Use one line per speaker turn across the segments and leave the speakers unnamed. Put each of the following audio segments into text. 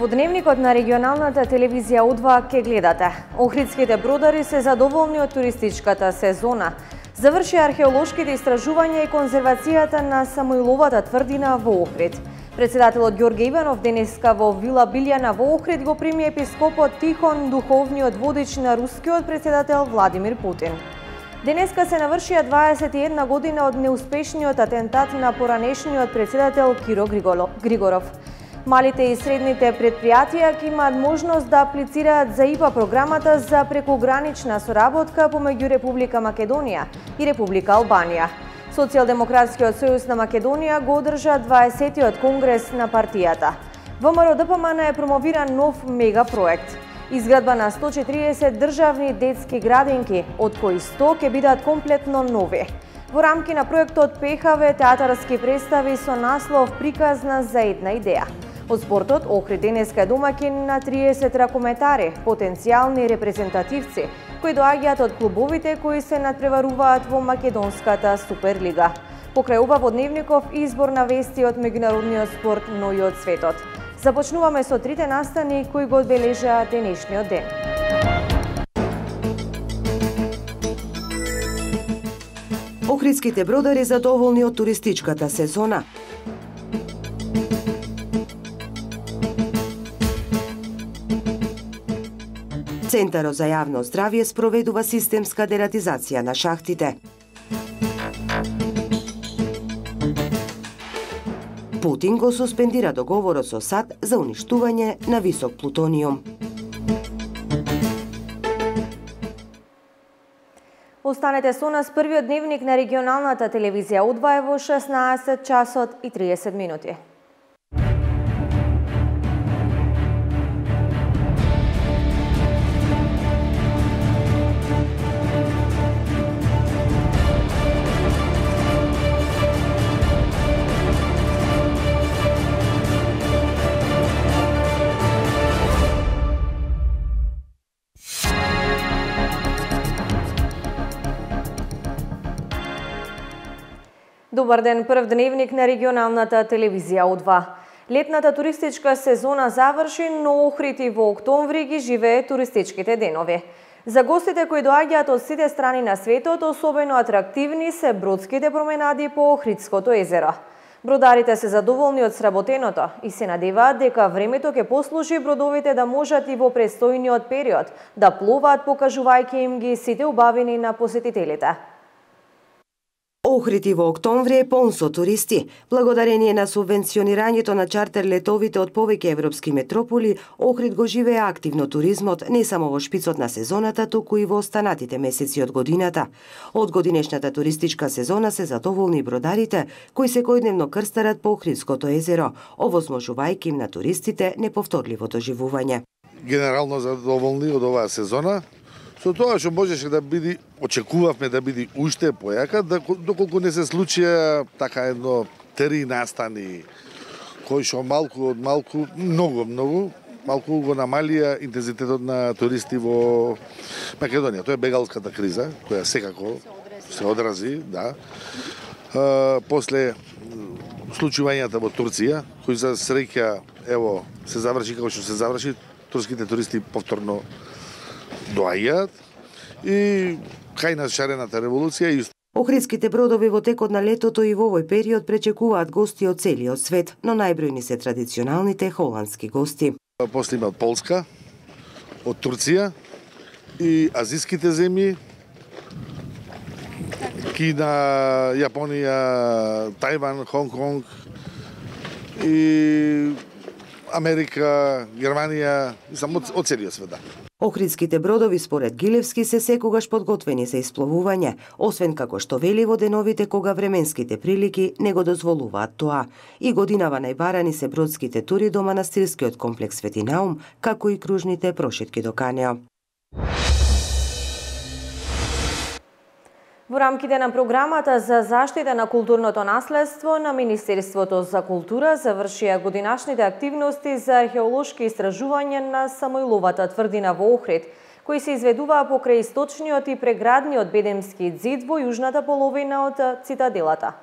Во дневникот на регионалната телевизија У2 ке гледате. Охридските бродари се задоволни од туристичката сезона. Заврши археолошките истражувања и конзервацијата на Самоиловата тврдина во Охрид. Председателот Ѓорѓе Иванов денеска во Вила Билјана во Охрид го прими епископот Тихон, духовниот водич на рускиот председател Владимир Путин. Денеска се навршија 21 година од неуспешниот атентат на поранешниот председател Киро Григоров. Малите и средните предпријатија ќе имаат можност да аплицираат за ИПА програмата за прекугранична соработка помеѓу Република Македонија и Република Албанија. Социјалдемократскиот сојуз на Македонија го одржа 20-тиот конгрес на партијата. ВМРО ДПМН е промовира нов мегапроект. Изградба на 140 државни детски градинки, од кои 100 ќе бидат комплетно нови. Во рамки на проектот пехаве театарски представи со наслов "Приказна за една идеја". Од спортот, Охрид денеска е домаќин на 30 ракометари, потенцијални репрезентативци, кои доаѓаат од клубовите кои се надпреваруваат во македонската Суперлига. Покрај ова во дневников избор на вести од меѓународниот спорт, но и од светот. Започнуваме со трите настани кои го одбележаа денешниот ден.
Охридските бродари задоволни од туристичката сезона. Центарот за јавно здравје спроведува системска дератизација на шахтите. Путин го суспендира договорот со САД за уништување на висок плутониум.
Останете со нас, првиот дневник на регионалната телевизија У2 е во 16 часот и 30 минути. Добар ден, прв дневник на регионалната телевизија У2. Летната туристичка сезона заврши, но Охрид и во октомври ги живее туристичките денови. За гостите кои доаѓаат од сите страни на светот, особено атрактивни се бродските променади по Охридското езеро. Бродарите се задоволни од сработеното и се надеваат дека времето ќе послужи бродовите да можат и во престојниот период да плуваат, покажувајќи им ги сите убавини на посетителите.
Охрид и во октомври е полн со туристи. Благодарение на субвенционирањето на чартер летовите од повеќе европски метрополи, Охрид го живее активно туризмот не само во шпицот на сезоната, туку и во останатите месеци од годината. Од годинешната туристичка сезона се задоволни бродарите, кои секојдневно крстарат по Охридското езеро, овозможувајќи им на туристите неповторливо доживување.
Генерално задоволни од оваа сезона. Со тоа што можеше да биде, очекувавме да биде уште појака, доколку не се случија така едно 3 настани, кои што малку од малку, малку го намалија интензитетот на туристи во Македонија. Тоа е бегалската криза, која секако се одрази, да. После случувањата во Турција, кои за среќа, ево, се заврши како што се заврши, турските туристи повторно доаѓаат и кај на шарената револуција исто.
Охридските бродови во текот на летото и во овој период пречекуваат гости од целиот свет, но најбројни се традиционалните холандски гости.
После има од Полска, од Турција и азиските земји, Кина, Јапонија, Тајван, Хонг-Конг и Америка, Германија, само од целиот свет.
Охридските бродови според Гилевски се секогаш подготвени за испловување, освен како што вели во деновите кога временските прилики не го дозволуваат тоа. И годинава најбарани се бродските тури до манастирскиот комплекс Свети Наум, како и кружните прошетки до Канеа.
Во рамките на програмата за заштита на културното наследство на Министерството за култура завршија годинашните активности за археолошки истражувања на Самоиловата тврдина во Охрид, кои се изведуваа покрај источниот и преградниот бедемски ѕид во јужната половина од цитаделата.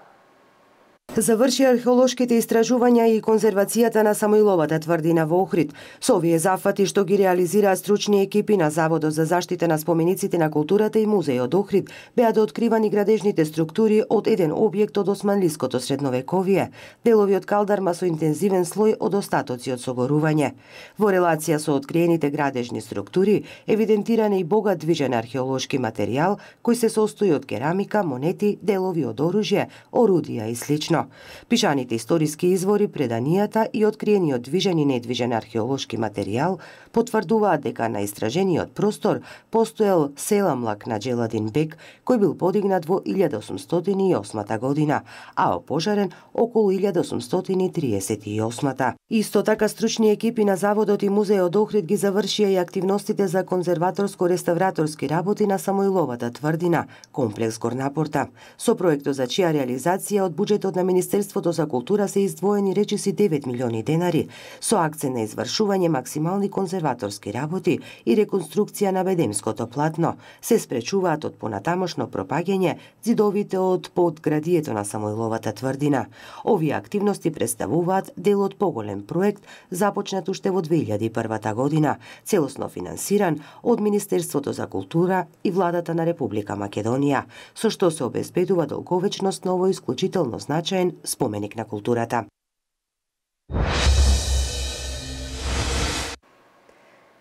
Заврши археолошките истражувања и конзервацијата на Самоиловата тврдина во Охрид. Со овие зафати што ги реализираат стручни екипи на Заводот за заштита на спомениците на културата и музејот Охрид, беа откривани градежните структури од еден објект од османлиското средновековие, делови од калдарма со интензивен слој од остатоци од согорување. Во релација со откриените градежни структури, евидентиран е и богат движен археолошки материјал кој се состои од керамика, монети, делови од оружје, орудија и слично. Пишаните историски извори, преданијата и откриениот движен и недвижен археолошки материјал потврдуваат дека на истражениот простор постоел селамлак на Джеладин бек, кој бил подигнат во 1808 година, а опожарен околу 1838. Исто така стручни екипи на Заводот и музејот Охрид ги завршија и активностите за конзерваторско-реставраторски работи на Самоиловата тврдина, комплекс Горнапорта, со проектот за чија реализација од буџетот на Министерството за култура се издвоени речиси 9 милиони денари, со акцент на извршување максимални конзерваторски работи и реконструкција на бедемското платно. Се спречуваат од понатамошно пропаѓање ѕидовите од подградието на Самоиловата тврдина. Овие активности представуваат дел од поголем проект започнат уште во 2001 година, целосно финансиран од Министерството за култура и Владата на Република Македонија, со што се обезбедува долговечност на овој исклучително значаен споменик на културата.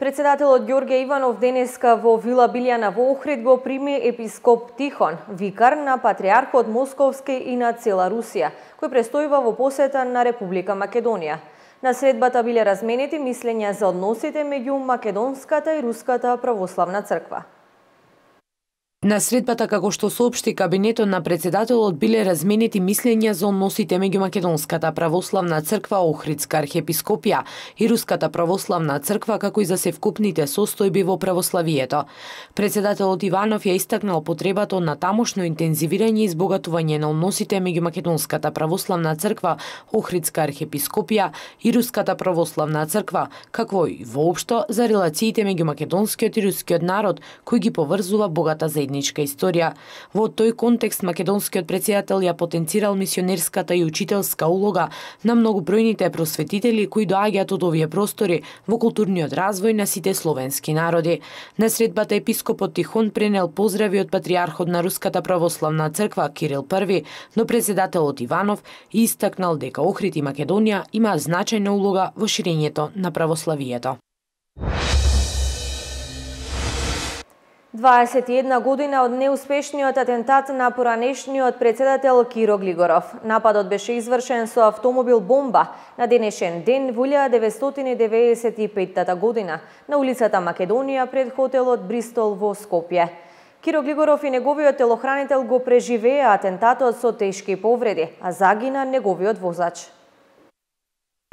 Председателот Ѓорѓе Иванов денеска во Вила Билјана во Охрид го прими епископ Тихон, викар на Патриархот Московски и на цела Русија, кој престојува во посета на Република Македонија. На средбата биле разменети мислења за односите меѓу Македонската и Руската православна црква.
На средбата, како што соопшти кабинетот на председателот, биле разменети мислења за односите меѓу Македонската православна црква, Охридска архиепископија и Руската православна црква, како и за севкупните состојби во православието. Председателот Иванов ја истакнал потребата од натамошно интензивирање и избогатување на односите меѓу Македонската православна црква, Охридска архиепископија и Руската православна црква, како и воопшто за релациите меѓу македонскиот и рускиот народ, кој ги поврзува богата заедничка историја. Во тој контекст македонскиот председател ја потенцирал мисионерската и учителска улога на многобројните просветители кои доаѓаат од овие простори во културниот развој на сите словенски народи. На средбата епископот Тихон пренел поздрави од патриархот на Руската православна црква Кирил I, но председателот Иванов истакнал дека Охрид и Македонија има значајна улога во ширењето на православието.
21 година од неуспешниот атентат на поранешниот председател Киро Глигоров. Нападот беше извршен со автомобил бомба на денешен ден во 1995 година на улицата Македонија пред хотелот Бристол во Скопје. Киро Глигоров и неговиот телохранител го преживеа атентатот со тешки повреди, а загина неговиот возач.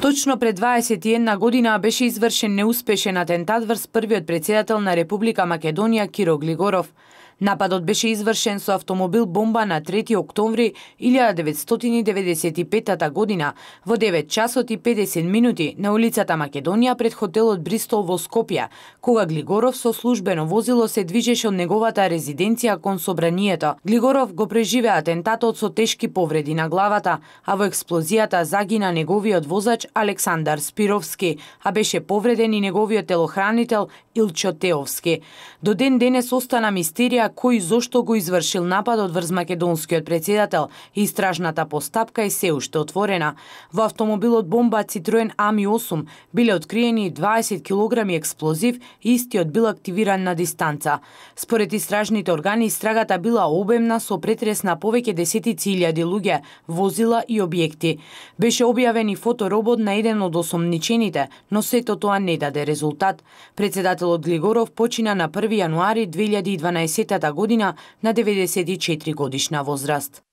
Точно пред 21 година беше извршен неуспешен атентат врз првиот председател на Република Македонија Киро Глигоров. Нападот беше извршен со автомобил бомба на 3 октомври 1995 година во 9 часот и 50 минути на улицата Македонија пред хотелот Бристол во Скопје, кога Глигоров со службено возило се движеше од неговата резиденција кон собранието. Глигоров го преживеа атентатот со тешки повреди на главата, а во експлозијата загина неговиот возач Александар Спировски, а беше повреден и неговиот телохранител Илчо Теовски. До ден денес остана мистерија кој зошто го извршил нападот врз македонскиот председател и истражната постапка е се уште отворена. Во автомобилот бомба Citroen Ami 8 биле откриени 20 килограми експлозив и истиот бил активиран на дистанца. Според истражните органи, истрагата била обемна со претрес на повеќе десетици илјади луѓе, возила и објекти. Беше објавен и фоторобот на еден од осомничените, но сето тоа не даде резултат. Председателот Глигоров почина на 1 јануари 2012 година на 94 годишна возраст.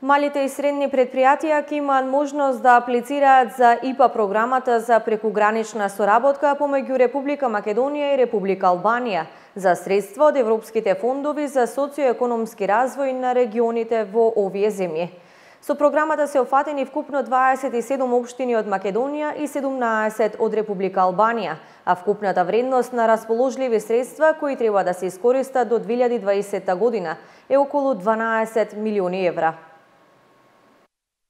Малите и средни предпријатија ќе имаат можност да аплицираат за ИПА програмата за прекугранична соработка помеѓу Република Македонија и Република Албанија за средства од европските фондови за социоекономски развој на регионите во овие земји. Со програмата се офатени вкупно 27 општини од Македонија и 17 од Република Албанија, а вкупната вредност на расположливи средства кои треба да се искористат до 2020 година е околу 12 милиони евра.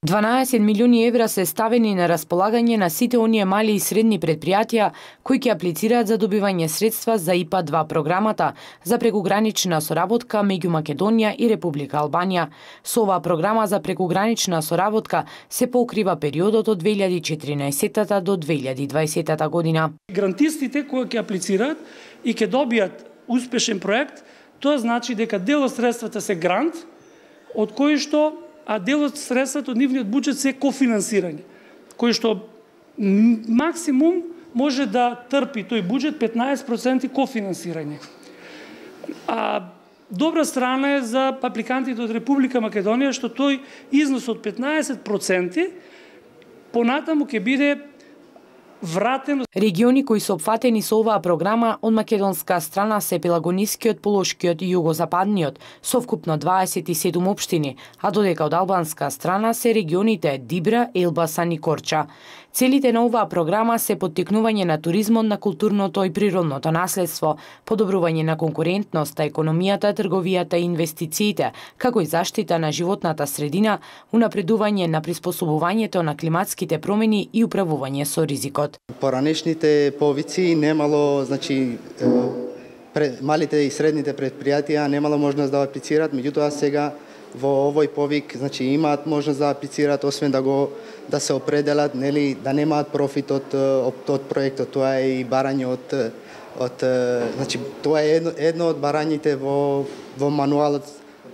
12 милиони евра се ставени на располагање на сите оние мали и средни предпријатија кои ќе аплицираат за добивање средства за ИПА-2 програмата за прекугранична соработка меѓу Македонија и Република Албанија. Со оваа програма за прекугранична соработка се покрива периодот од 2014 до 2020 година.
Грантистите кои ќе аплицираат и ќе добијат успешен проект, тоа значи дека дел од средствата се грант, од кои што а дел од средствата од нивниот буџет се кофинансирање, кој што максимум може да трпи тој буџет 15% кофинансирање. А добра страна е за апликантите од Република Македонија што тој износ од 15% понатаму ќе биде вратен.
Региони кои се опфатени со оваа програма од македонска страна се Пелагонискиот, Полошкиот и Југозападниот, со вкупно 27 општини, а додека од албанска страна се регионите Дибра, Елбасан и Корча. Целите на оваа програма се поттикнување на туризмот, на културното и природното наследство, подобрување на конкурентноста, економијата, трговијата и инвестициите, како и заштита на животната средина, унапредување на приспособувањето на климатските промени и управување со ризикот.
Поранешните повици немало, значи малите и средните предпријатија немало можност да аплицираат, меѓутоа сега во овој повик, значи имаат можност да аплицираат, освен да се определат, нели, да немаат профит од проектот. Тоа е и барање значи тоа е едно од барањите во мануалот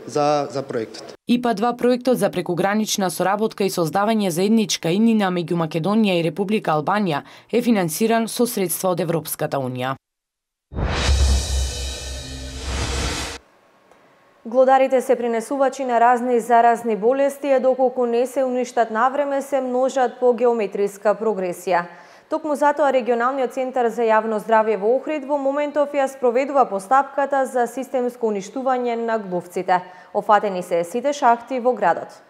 за проектот.
ИПА-2 проектот за прекугранична соработка и создавање заедничка иднина меѓу Македонија и Република Албанија е финансиран со средства од Европската унија.
Глодарите се принесувачи на разни заразни болести, а доколку не се уништат навреме, се множат по геометриска прогресија. Токму затоа Регионалниот центар за јавно здравје во Охрид во моментов ја спроведува постапката за системско уништување на глувците. Офатени се сите шахти во градот.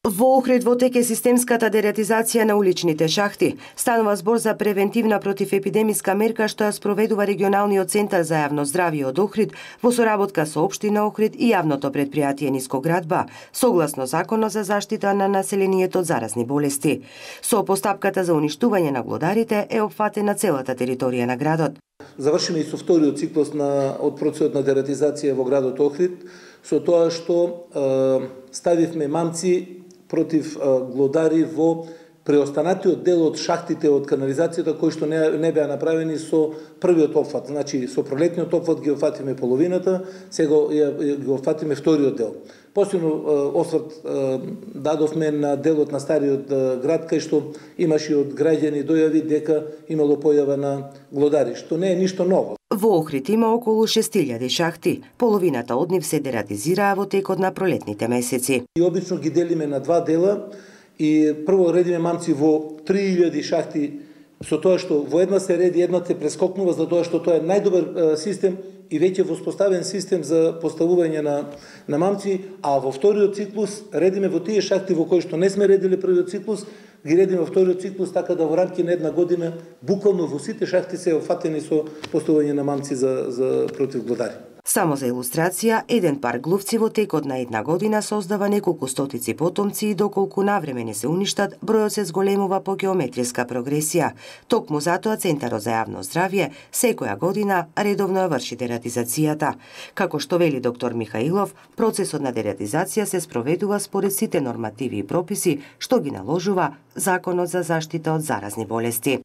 Во Охрид во тек е системската дератизација на уличните шахти. Станува збор за превентивна противепидемиска мерка што ја спроведува Регионалниот центар за јавно здравје од Охрид во соработка со општина Охрид и јавното предпријатие Нискоградба, согласно Законот за заштита на населението од заразни болести. Со постапката за уништување на глодарите е опфатена целата територија на градот.
Завршиме и со вториот циклус од процесот на дератизација во градот Охрид, со тоа што ставивме мамци против глодари во преостанатиот дел од шахтите од канализацијата кои што не беа направени со првиот опфат. Значи, со пролетниот опфат ги офатиме половината, сега ги офатиме вториот дел. Посебно осврт дадовме на делот на стариот град, кај што имаше од граѓани дојави дека имало појава на глодари, што не е ништо ново.
Во Охрид има околу 6000 шахти. Половината од нив се дератизираа во текот на пролетните месеци.
И обично ги делиме на два дела и прво редиме мамци во 3000 шахти, со тоа што во една се реди, една се прескокнува, за тоа што тоа е најдобар систем и веќе воспоставен систем за поставување на мамци, а во вториот циклус редиме во тие шахти во кои што не сме редили првиот циклус, ги редиме во вториот циклус, така да во рамки на една година буквално во сите шахти се офатени со поставување на мамци за против глодари.
Само за илустрација, еден пар глувци во текот на една година создава неколку стотици потомци и доколку навреме не се уништат, бројот се зголемува по геометриска прогресија. Токму затоа Центарот за јавно здравје секоја година редовно ја врши дератизацијата. Како што вели доктор Михаилов, процесот на дератизација се спроведува според сите нормативи и прописи што ги наложува Законот за заштита од заразни болести.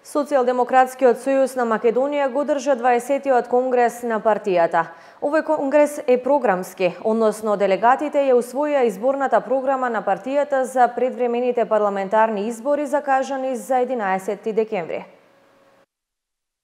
Социјалдемократскиот сојуз на Македонија го држа 20-тиот конгрес на партијата. Овој конгрес е програмски, односно делегатите ја усвоија изборната програма на партијата за предвремените парламентарни избори закажани за 11 декември.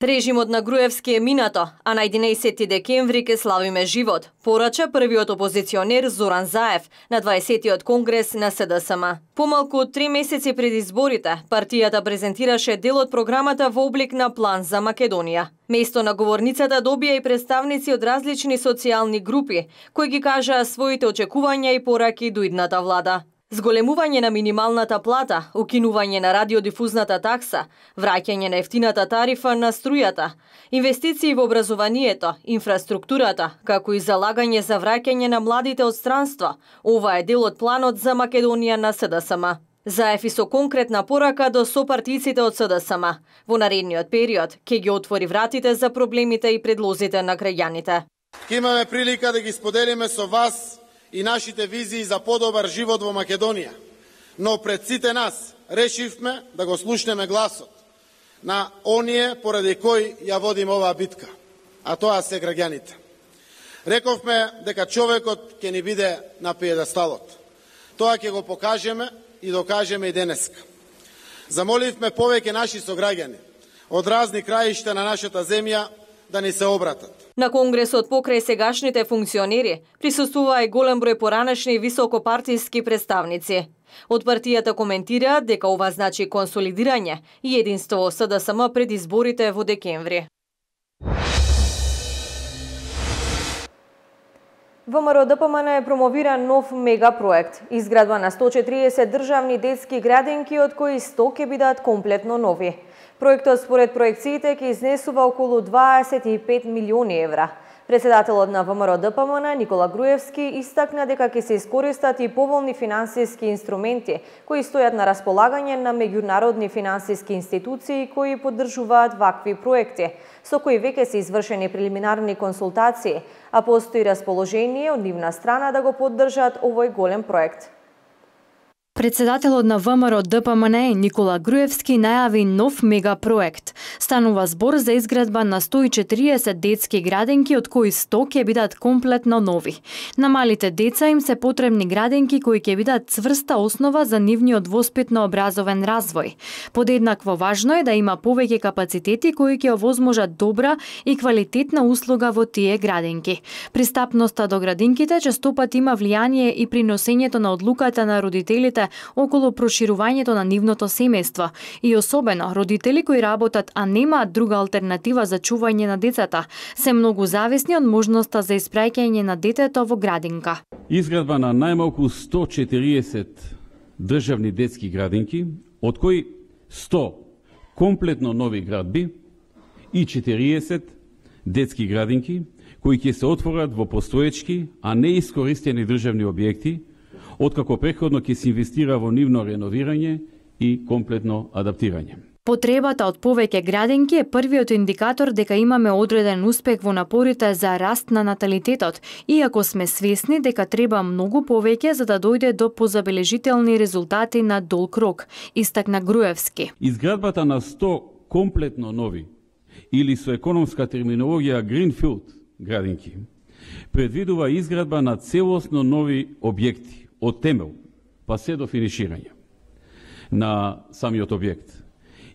Режимот на Груевски е минато, а на 11 декември ке славиме живот, порача првиот опозиционер Зоран Заев на 20-тиот конгрес на СДСМ. Помалку од 3 месеци пред изборите, партијата презентираше дел од програмата во облик на план за Македонија. Место на говорницата добија и представници од различни социјални групи, кои ги кажаа своите очекувања и пораки до идната влада. Зголемување на минималната плата, укинување на радиодифузната такса, враќање на ефтината тарифа на струјата, инвестиции во образованието, инфраструктурата, како и залагање за враќање на младите од странство. Ова е дел од планот за Македонија на СДСМ. Заев и со конкретна порака до сопартиците од СДСМ. Во наредниот период ќе ги отвори вратите за проблемите и предлозите на граѓаните.
Ќе имаме прилика да ги споделиме со вас и нашите визии за подобар живот во Македонија. Но пред сите нас решивме да го слушнеме гласот на оние поради кои ја водим оваа битка, а тоа се граѓаните. Рековме дека човекот ќе ни биде на пиедесталот. Тоа ќе го покажеме и докажеме и денеска. Замоливме повеќе наши сограѓани од разни краишта на нашата земја да ни се обратат.
На конгресот покрај сегашните функционери присуствува и голем број поранешни високопартиски представници. Од партијата коментираат дека ова значи консолидирање и единство во СДСМ пред изборите во декември. ВМРО ДПМН промовира нов мегапроект, изградба на 140 државни детски градинки, од кои 100 ќе бидат комплетно нови. Проектот според проекциите ќе изнесува околу 25 милиони евра. Председателот на ВМРО ДПМН Никола Груевски истакна дека ќе се искористат и поволни финансиски инструменти кои стојат на располагање на меѓународни финансиски институции кои поддржуваат вакви проекти, со кои веќе се извршени прелиминарни консултации, а постои расположение од нивна страна да го поддржат овој голем проект.
Председателот на ВМРО ДПМН Никола Груевски најави нов мегапроект. Станува збор за изградба на 140 детски градинки, од кои 100 ќе бидат комплетно нови. На малите деца им се потребни градинки кои ќе бидат цврста основа за нивниот воспитно-образовен развој. Подеднакво важно е да има повеќе капацитети кои ќе овозможат добра и квалитетна услуга во тие градинки. Пристапноста до градинките честопат има влијание и при носењето на одлуката на родителите околу проширувањето на нивното семејство и особено родители кои работат, а немаат друга алтернатива за чување на децата, се многу зависни од можноста за испраќање на детето во градинка.
Изградба на најмалку 140 државни детски градинки, од кои 100 комплетно нови градби и 40 детски градинки кои ќе се отворат во постоечки, а не искористени државни објекти, откако претходно ќе се инвестира во нивно реновирање и комплетно адаптирање.
Потребата од повеќе градинки е првиот индикатор дека имаме одреден успех во напорите за раст на наталитетот, иако сме свесни дека треба многу повеќе за да дојде до позабележителни резултати на долг рок, истакна Груевски.
Изградбата на 100 комплетно нови или со економска терминологија Greenfield градинки предвидува изградба на целосно нови објекти од темел па се до финиширање на самиот објект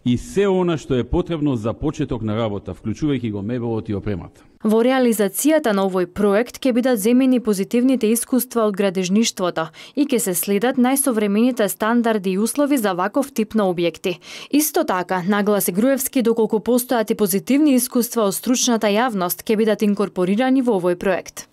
и се она што е потребно за почеток на работа, вклучувајќи го мебелот и опремата.
Во реализацијата на овој проект ќе бидат земени позитивните искуства од градежништвото и ќе се следат најсовремените стандарди и услови за ваков тип на објекти. Исто така, нагласи Груевски, доколку постојат и позитивни искуства од стручната јавност, ќе бидат инкорпорирани во овој проект.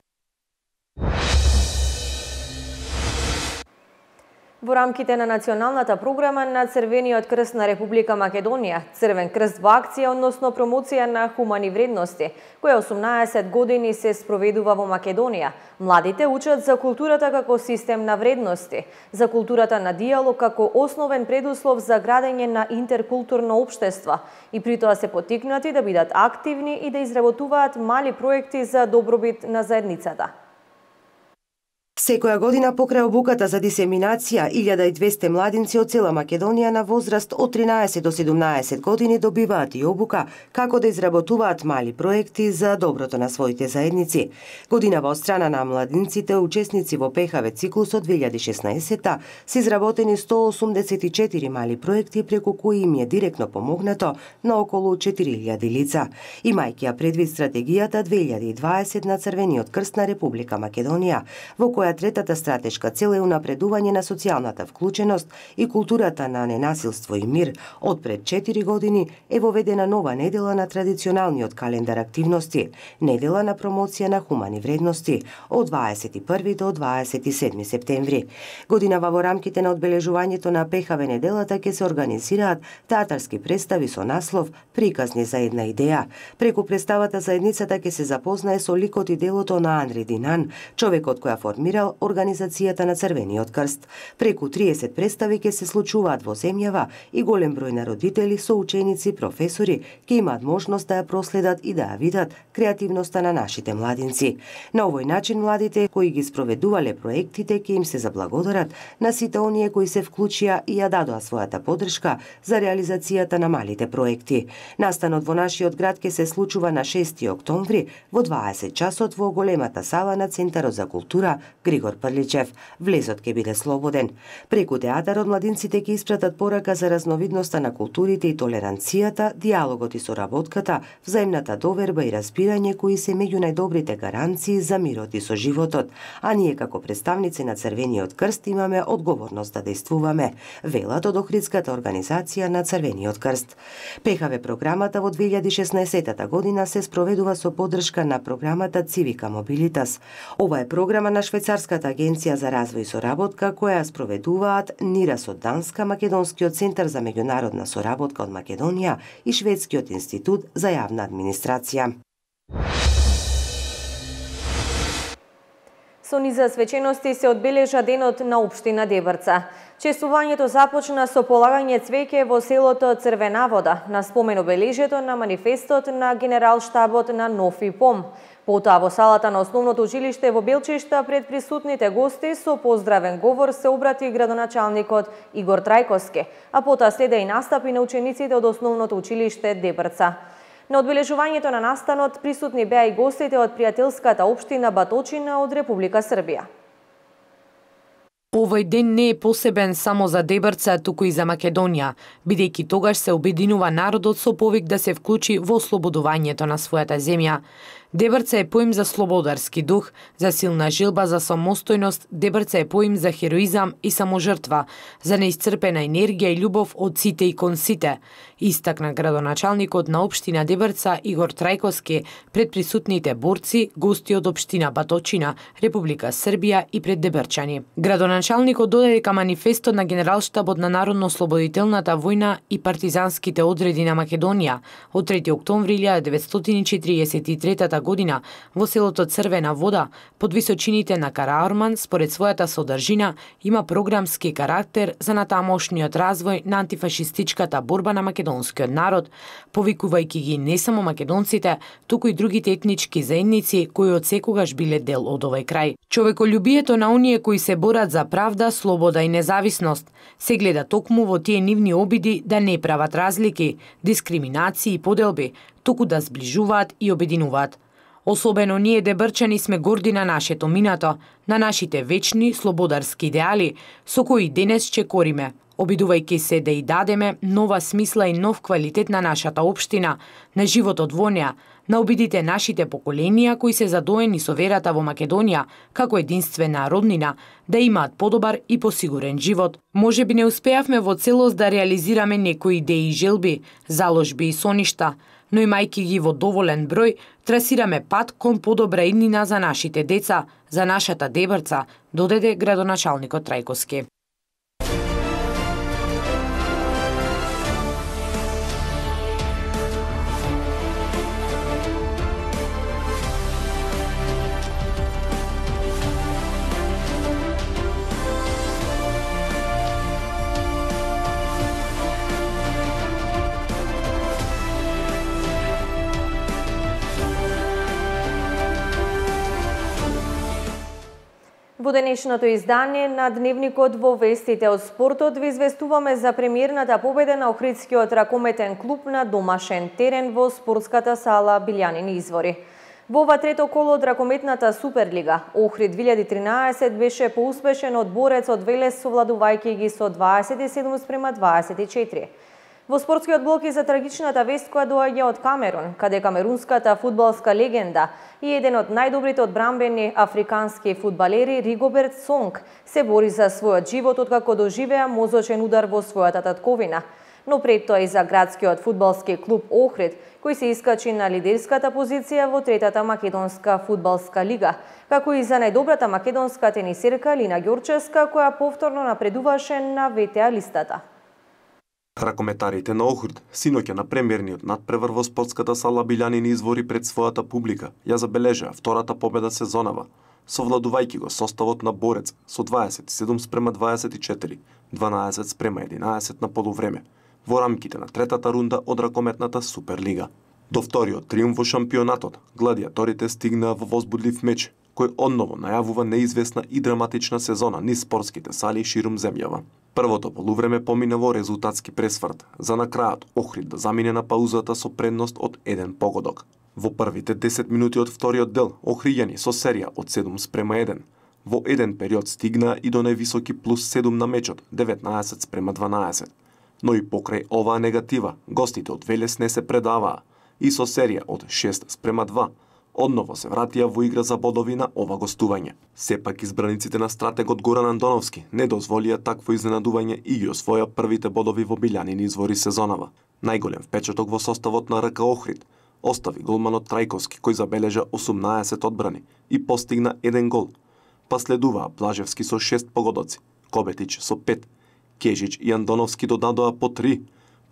Во рамките на националната програма на Црвениот крст на Република Македонија, Црвен крст во акција, односно промоција на хумани вредности, која 18 години се спроведува во Македонија, младите учат за културата како систем на вредности, за културата на диалог како основен предуслов за градење на интеркултурно општество и притоа се поттикнати да бидат активни и да изработуваат мали проекти за добробит на заедницата.
Секоја година покрај обуката за дисеминација, 1200 младинци од цела Македонија на возраст од 13 до 17 години добиваат и обука како да изработуваат мали проекти за доброто на своите заедници. Годинава од страна на младинците учесници во ПХВ циклусот 2016 се изработени 184 мали проекти преку кои им е директно помогнато на околу 4000 лица. Имајќи ја предвид стратегијата 2020 на Црвениот крст на Република Македонија, во која третата стратешка цел е унапредување на социјалната вклученост и културата на ненасилство и мир, од пред 4 години е воведена нова недела на традиционалниот календар активности, недела на промоција на хумани вредности, од 21 до 27 септември. Годинава во рамките на одбележувањето на ПХВ неделата ќе се организираат театарски представи со наслов "Приказни за една идеја". Преку представата заедницата ќе се запознае со ликот и делото на Анри Динан, човекот која формирал Организацијата на Црвениот крст. Преку 30 представи ќе се случуваат во земјава и голем број на родители, соученици, професори ќе имаат можност да ја проследат и да ја видат креативноста на нашите младинци. На овој начин младите кои ги спроведувале проектите ќе им се заблагодарат на сите оние кои се вклучија и ја дадоа својата поддршка за реализацијата на малите проекти. Настанот во нашиот град ќе се случува на 6 октомври во 20 часот во големата сала на Центарот за култура Григор Прличев. Влезот ќе биде слободен. Преку театарот младинците ќе испратат порака за разновидноста на културите и толеранцијата, диалогот и соработката, взаимната доверба и разбирање кои се меѓу најдобрите гаранции за мирот и соживотот. А ние како представници на Црвениот крст имаме одговорност да действуваме, велат од Охридската организација на Црвениот крст. ПХВ програмата во 2016 година се спроведува со поддршка на програмата Civica Mobilitas. Ова е програма на Швајцарската агенција за развој и соработка која спроведуваат НИРАС од Данска, Македонскиот центар за меѓународна соработка од Македонија и Шведскиот институт за јавна администрација.
Со низа свечености се одбележа денот на општина Дебрца. Честувањето започна со полагање цвеќе во селото Црвена вода на спомен обележјето на манифестот на Генералштабот на Нов ИПОМ. Потоа во салата на основното училиште во Белчешта пред присутните гости со поздравен говор се обрати градоначалникот Игор Трајковски, а потоа следа и настапи на учениците од основното училиште Дебрца. На одбележувањето на настанот присутни беа и гостите од пријателската општина Баточина од Република Србија.
Овој ден не е посебен само за Дебрца, туку и за Македонија, бидејќи тогаш се обединува народот со повик да се вклучи во ослободувањето на својата земја. Дебрца е поим за слободарски дух, за силна желба за самостојност, Дебрца е поим за хероизам и саможртва, за неисцрпена енергија и љубов од сите и кон сите, истакна градоначалникот на општина Дебрца Игор Трајковски пред присутните борци, гости од општина Баточина, Република Србија и пред дебрчани. Градоначалникот додаде дека манифестот на Генералштабот на Народно-ослободителната војна и партизанските одреди на Македонија од 3 октомври 1943 година во селото Црвена вода под височините на Караорман според својата содржина има програмски карактер за натамошниот развој на антифашистичката борба на македонскиот народ, повикувајќи ги не само македонците, туку и другите етнички заедници кои од секогаш биле дел од овој крај. Човеколюбието на оние кои се борат за правда, слобода и независност се гледа токму во тие нивни обиди да не прават разлики, дискриминации и поделби, туку да зближуваат и обединуваат. Особено ние дебрчани сме горди на нашето минато, на нашите вечни слободарски идеали, со кои денес чекориме, обидувајќи се да и дадеме нова смисла и нов квалитет на нашата општина, на животот во неа, на обидите нашите поколенија кои се задоени со верата во Македонија како единствена роднина, да имаат подобар и посигурен живот. Може би не успеавме во целост да реализираме некои идеи и желби, заложби и соништа, но имајќи ги во доволен број, трасираме пат кон подобра иднина за нашите деца, за нашата Дебрца, додаде градоначалникот Трајковски.
Во денешното издание на Дневникот во вестите од спортот ви известуваме за премиерната победа на Охридскиот ракометен клуб на домашен терен во спортската сала Билјанини извори. Во ова трето коло од ракометната Суперлига, Охрид 2013 беше поуспешен од Борец од Велес, совладувајќи ги со 27-24. Во спортскиот блок и за трагичната вест која доаѓа од Камерун, каде камерунската фудбалска легенда и еден од најдобрите одбранбени африкански фудбалери Ригоберт Сонг се бори за својот живот откако доживеа мозочен удар во својата татковина. Но пред тоа и за градскиот фудбалски клуб Охрид, кој се искачи на лидерската позиција во третата македонска фудбалска лига, како и за најдобрата македонска тенисерка Лина Ѓорчевска, која повторно напредуваше на ВТА листата.
Ракометарите на Охрид синоќа на премиерниот надпревар во спортската сала Билјанини извори пред својата публика ја забележаа втората победа сезонава, совладувајќи го составот на Борец со 27-24, 12-11 на полувреме, во рамките на третата рунда од ракометната Суперлига. До вториот триумф во шампионатот, гладиаторите стигнаа во возбудлив меч, кој одново најавува неизвестна и драматична сезона низ спортските сали ширум земјава. Првото полувреме помина во резултатски пресврт, за на крајот Охрид да замине на паузата со предност од 1 погодок. Во првите 10 минути од вториот дел, охријани со серија од 7-1. Во еден период стигнаа и до највисоки плюс 7 на мечот, 19-12. Но и покрај оваа негатива, гостите од Велес не се предаваа и со серија од 6-2, одново се вратија во игра за бодови на ова гостување. Сепак избраниците на стратегот Горан Андоновски не дозволија такво изненадување и ги освоја првите бодови во Билјанини извори сезонава. Најголем впечаток во составот на РК Охрид остави голманот Трајковски, кој забележа 18 одбрани и постигна 1 гол. Па следуваа Блажевски со 6 погодоци, Кобетич со 5, Кежич и Андоновски додадоа по 3,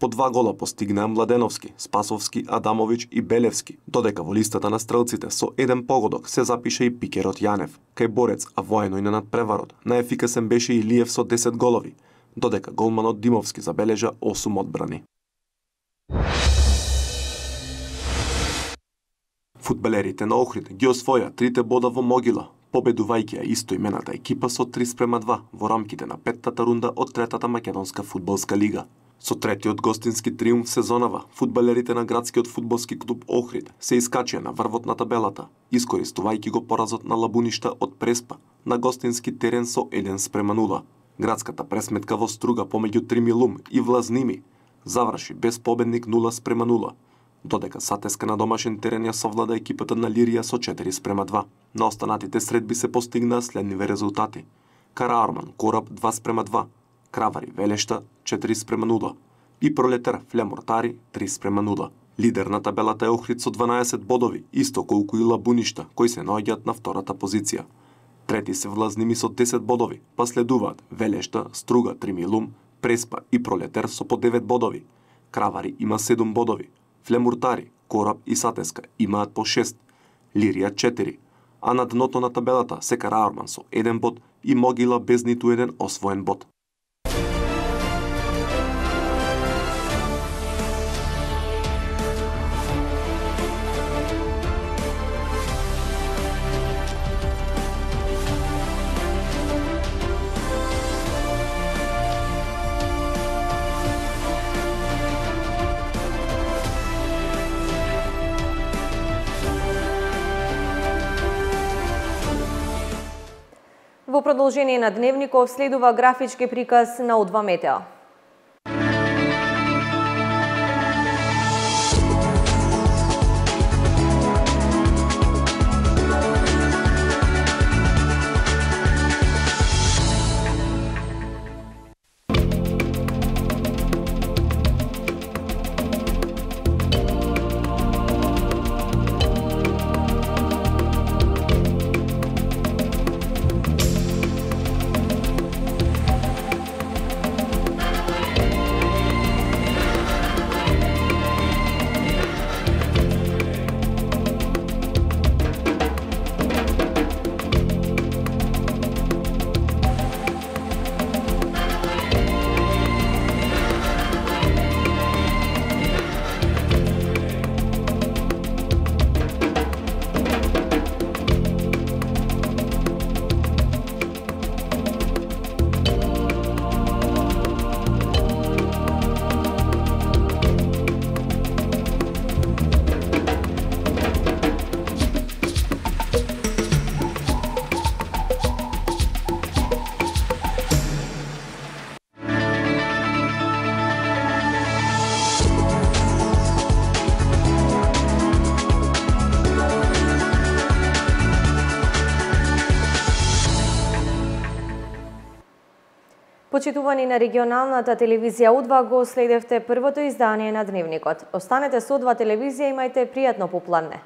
по 2 гола постигнаа Младеновски, Спасовски, Адамович и Белевски, додека во листата на стрелците со 1 погодок се запише и пикерот Јанев. Кај Борец, а воено и на надпреварот, најефикасен беше Илиев со 10 голови, додека голманот Димовски забележа 8 одбрани. Фудбалерите на Охрид ги освоја 3 бода во Могила, победувајќи ја истоимената екипа со 3-2 во рамките на 5-тата рунда од третата македонска фудбалска лига. Со третиот гостински триумф сезонава, фудбалерите на градскиот фудбалски клуб Охрид се искачија на врвот на табелата, искористувајќи го поразот на Лабуништа од Преспа на гостински терен со 1-0. Градската пресметка во Струга помеѓу Тримилум и Влазними заврши без победник 0-0, додека Сатеска на домашен терен ја совлада екипата на Лирија со 4-2. На останатите средби се постигнаа следниве резултати: Караарман Кораб 2-2, Кравари Велешта 4-0 и Пролетар Флемортари 3-0. Лидер на табелата е Охрид со 12 бодови, исто колку и Лабуништа, кои се наоѓаат на втората позиција. Трети се Влазними со 10 бодови, па следуваат Велешта, Струга, Тримилум, Преспа и Пролетар со по 9 бодови. Кравари има 7 бодови, Флемуртари, Кораб и Сатеска имаат по 6, Лирија 4, а на дното на табелата се Караарман со 1 бод и Могила без ниту еден освоен бод.
Во продолжение на Дневников следува графички приказ на О2 Метео. Почитувани на регионалната телевизија У2 го следевте првото издание на Дневникот. Останете со У2 телевизија, имајте пријатно попладне.